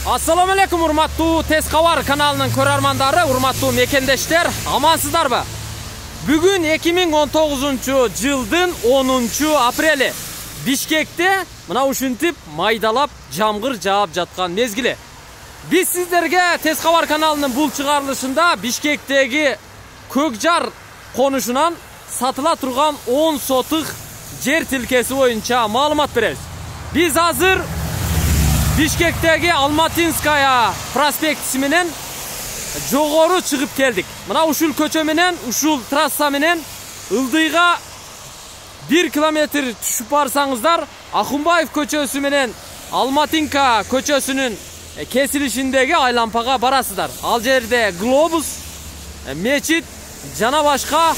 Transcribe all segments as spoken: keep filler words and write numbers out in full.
Assalamu alaikum урматтуу Тез Кабар каналынын көрөрмандары, урматтуу мекендештер, амансыздарбы? Бүгүн эки миң он тогузунчу жылдын онунчу апрели. Бишкекте мына ушинтип майдалап жамгыр жаап жаткан мезгили. Биз сиздерге Тез Кабар каналынын бул чыгарылышында Бишкектеги Көкжар конушунан сатыла турган он сотук жер тилкеси боюнча маалымат беребиз. Биз азыр Бишкектеги Алматинская проспектиси менен жогору чыгып келдик. Мына ушул көчө менен, ушул трасса менен ылдыйга бир километр түшүп барсаңыздар, Ахунбаев көчөсү менен Алматинка көчөсүнүн кесилишиндеги айлампага барасыздар. Ал жерде глобус, мечит жана башка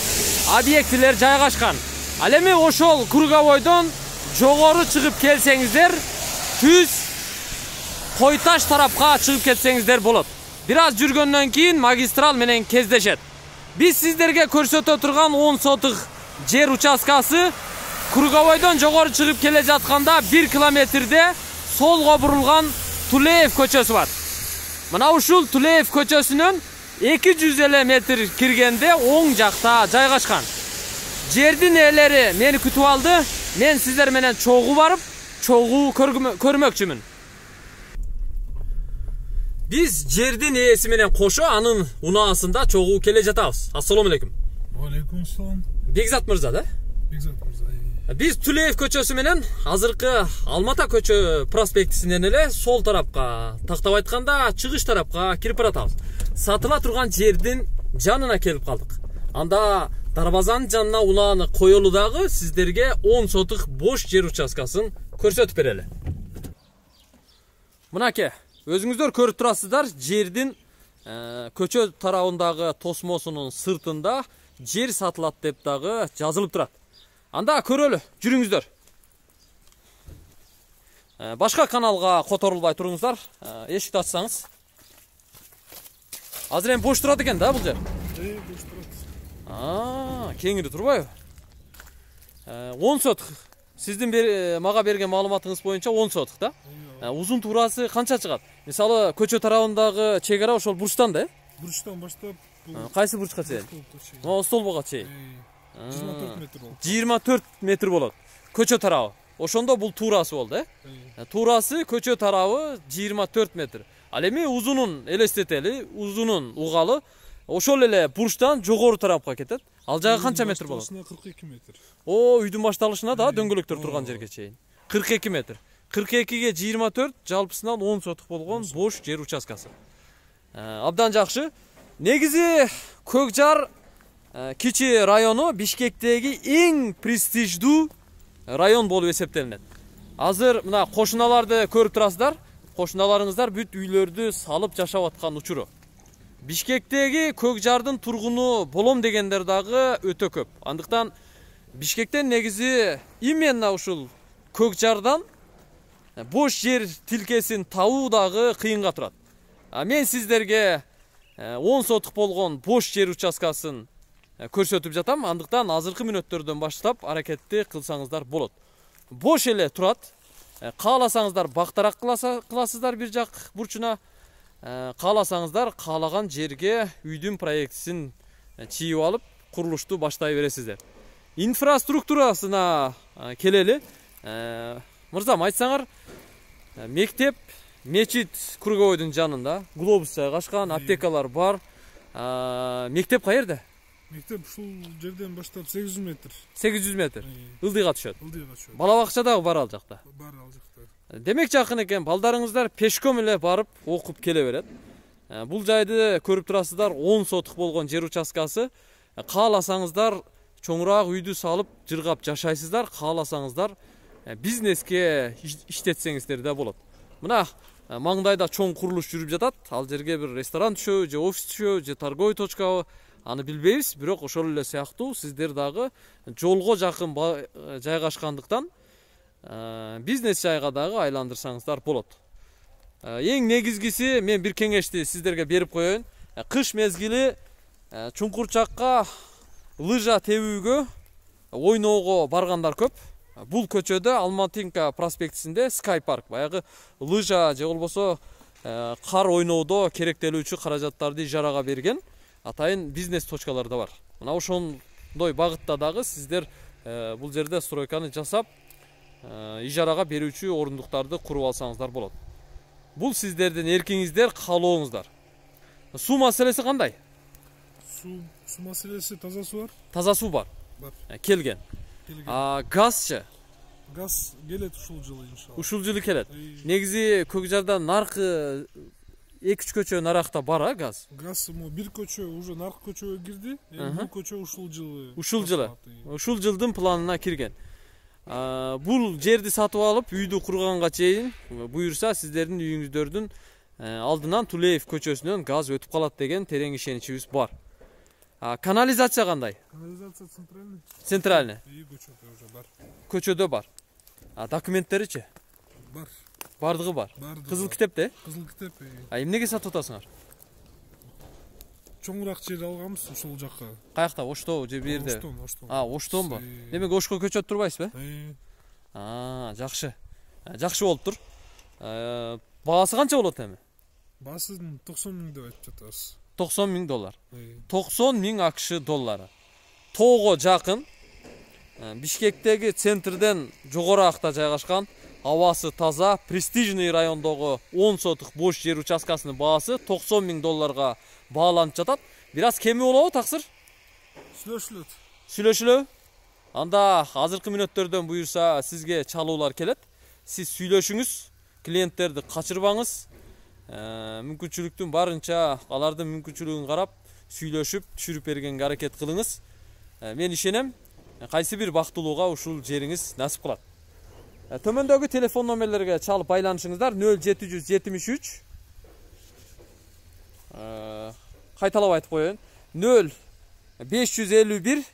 объектилер жайгашкан. Ал эми ошол круговойдон жогору чыгып келсеңиздер, түз Койташ тарапка чыгып кетсеңиздер болот. Бир аз жүргөндөн кийин магистрал менен кездешет. Биз сиздерге көрсөтө турган он сотук жер участкасы круговойдон жогору чыгып келе жатканда бир километрде солго бурулган Тулеев көчөсү бар. Мына ушул Тулеев көчөсүнөн эки жүз элүү метр киргенде оң жакта жайгашкан. Жердин ээлери мени күтүп алды. Мен сиздер менен чогуу барып, чогуу көрмөкчүмүн. Биз жердин ээси менен кошо анын унаасында чогуу келе жатабыз. Ассаламу алейкум. Алейкум ассалам. Бекзат мырза да? Бекзат мырза. Биз Тулеев көчөсү менен азыркы Алмата көчө проспектисинен эле сол тарапка, тактап айтканда чыгыш тарапка кирип баратабыз. Сатыла турган жердин жанына келип калдык. Анда дарбазанын жанына унааны коелу дагы сиздерге он сотук бош жер участкасын көрсөтүп берели. Мынаке, өзүңүздөр көрүп турасыздар, жердин көчө тарабындагы тосмосунун сыртында жер сатылат деп дагы жазылып турат. Анда көрөлү, жүрүңүздөр. Башка каналга которулбай туруңуздар, эшикти ачсаңыз. Азыр эми бош турат экен да бул жер. Э, бош турат. А, кеңири турбайбы? он сотук. Сиздин мага берген маалыматыңыз боюнча он сотук да? Узун туурасы канча чыгат? Мисалы, көчө тарабындагы чек ара ошол бурчтан да? Бурчтан баштап, кайсы бурчка чейин? Могу столбого чейин. жыйырма төрт метр болот. жыйырма төрт метр болот. Көчө тарабы. Ошондо бул туурасы болду, э? Туурасы көчө тарабы жыйырма төрт метр. Ал эми узунун элестетели, узунун угалы ошол эле бурчтан жогору тарапка кетет. Ал жагы канча метр болот? кырк эки метр. О, үйдүн башталышына да дөңгөлөктөр турган жерге чейин. кырк эки метр. кырк экиге жыйырма төрт жалпысынан он сотук болгон бош жер участкасы. Абдан жакшы. Негизи Көкжар кичи району Бишкектеги эң престиждүү район болуп эсептелинет. Азыр мына кошуналарды көрүп турасыздар. Кошуналарыңыздар бүт үйлөрдү салып жашап аткан учуру. Бишкектеги Көкжардын тургуну болом дегендер дагы өтө көп. Андыктан Бишкектен негизи именно ушул Көкжардан бош жер тилкесин табуу дагы кыйынга турат. А мен сиздерге он сотук болгон бош жер участкасын көрсөтүп жатам. Андыктан азыркы мүнөттөрдөн баштап аракетти кылсаңыздар болот. Бош эле турат. Кааласаңыздар бактарак кыласыздар бир жак бурчуна. Кааласаңыздар каалаган жерге үйдүн проектисин чийип алып, курулушту баштай бересиздер. Инфраструктурасына келели. Мырзам, айтсаңар, мектеп, мечит круговойдун жанында, глобус жайгашкан, аптекалар бар. Мектеп каерде? Мектеп ушул жерден баштап сегиз жүз метр. сегиз жүз метр. Ылдыйга түшөт. Ылдыйга түшөт. Бала бакча дагы бар ал жакта. Бар ал жакта. Демек жакын экен, балдарыңыздар пешком эле барып окуп келе берет. Бул жайды көрүп турасыздар, он сотук болгон жер участкасы. Кааласаңыздар чоңураак үйдү салып жыргап жашайсыздар, кааласаңыздар бизнеске иштетсеңиздер да болот. Мына маңдайда чоң курулуш жүрүп жатат. Ал жерге бир ресторан түшөбү, же офис түшөбү, же торговый точкабы, аны билбейбиз, бирок ошол эле сыяктуу сиздер дагы жолго жакын жайгашкандыктан бизнес жайга дагы айландырсаңыздар болот. Эң негизгиси мен бир кеңешти сиздерге берип коеюн. Кыш мезгили чуңкурчакка лыжа тебүүгө, ойноого баргандар көп. Бул көчөдө Алматинка проспектисинде Sky Park, баягы лыжа же болбосо кар ойноодо керектелүүчү каражаттарды ижарага берген атайын бизнес точкалар да бар. Мына ошондой багытта дагы сиздер бул жерде стройканы жасап ижарага берүүчү орундуктарды куруп алсаңыздар болот. Бул сиздердин эркиңиздер, каалооңуздар. Суу маселеси кандай? Суу суу маселеси таза суу бар. Таза суу бар. Бар. Келген. А газчы? Газ келет ушул жылы иншалла. Ушул жылы келет. Негизи Көкжарда наркы эки үч көчө наракта бар а газ. Газ му бир көчө уже нарк көчөгө кирди. Эми бул көчө ушул жылы. Ушул жылы. Ушул жылдын планына кирген. Бул жерди сатып алып, үйдү курганга чейин буюрса сиздердин үйүңүздөрдүн алдынан Тулеев көчөсүнөн газ өтүп калат деген терең ишеничибиз бар. Канализация кандай? Канализация центральный. Центральный. И көчөдө уже бар. Көчөдө бар. А документтеричи? Бар. Бардыгы бар. Кызыл китепте? Кызыл китеп. А эмнеге сатып атасыңар? Чоңураак жер алганбыз ушул жакка. Каякта? Ошто же бу жерде? Оштон, Оштон. А, Оштонбу? Демек Ошко көчөп турбайсызбы? А, жакшы. Жакшы болуп тур. Баасы канча болот эми? Баасын токсон миң деп айтып жатабыз. токсон миң доллар. токсон миң акш доллары. Тоого жакын. Бишкектеги центрден жогоракта жайгашкан, абасы таза, престижный райондогу он сотук бош жер участкасынын баасы токсон миң долларга бааланып жатат. Бир аз кеми болобу таксыр? Сүйлөшүлөт. Сүйлөшүлөбү? Анда азыркы мүнөттөрдөн буюрса сизге чалуулар келет. Сиз сүйлөшүңүз, клиенттерди качырбаңыз. Мүмкүнчүлүктүн барынча алардын мүмкүнчүлүгүн карап, сүйлөшүп, түшүрүп бергенге аракет кылыңыз. Мен ишенем, кайсы бир бактылууга ушул жериңиз насип кылат. Төмөндөгү телефон номерлерге чалып байланышыңыздар. нөл жети жүз жетимиш үч кайталап айтып коеюн. нөл беш жүз элүү бир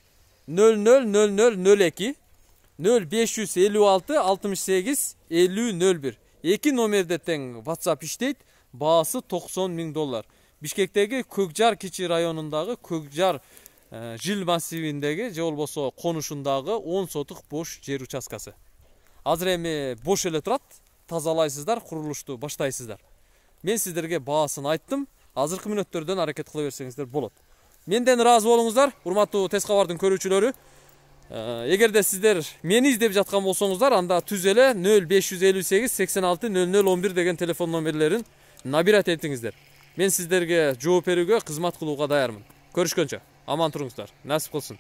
нөл нөл нөл нөл нөл эки нөл беш жүз элүү алты алтымыш сегиз элүү нөл бир. Эки номерде тең WhatsApp иштейт. Баасы токсон миң доллар. Бишкектеги Көкжар кичи районундагы Көкжар жил массивиндеги же болбосо конушундагы он сотук бош жер участкасы. Азыр эми бош эле турат. Тазалайсыздар, курулушту баштайсыздар. Мен сиздерге баасын айттым. Азыркы мүнөттөрдөн аракет кыла берсеңиздер болот. Менден ыраазы болуңуздар, урматтуу Тез кабардын көрүүчүлөрү. Эгерде сиздер мени издеп жаткан болсоңуздар, анда түз эле нөл беш жүз элүү сегиз сексен алты нөл нөл он бир деген телефон номерлерин набират этиңиздер. Мен сиздерге жооп берүүгө, кызмат кылууга даярмын. Көрүшкөнчө, аман туруңуздар. Насип кылсын.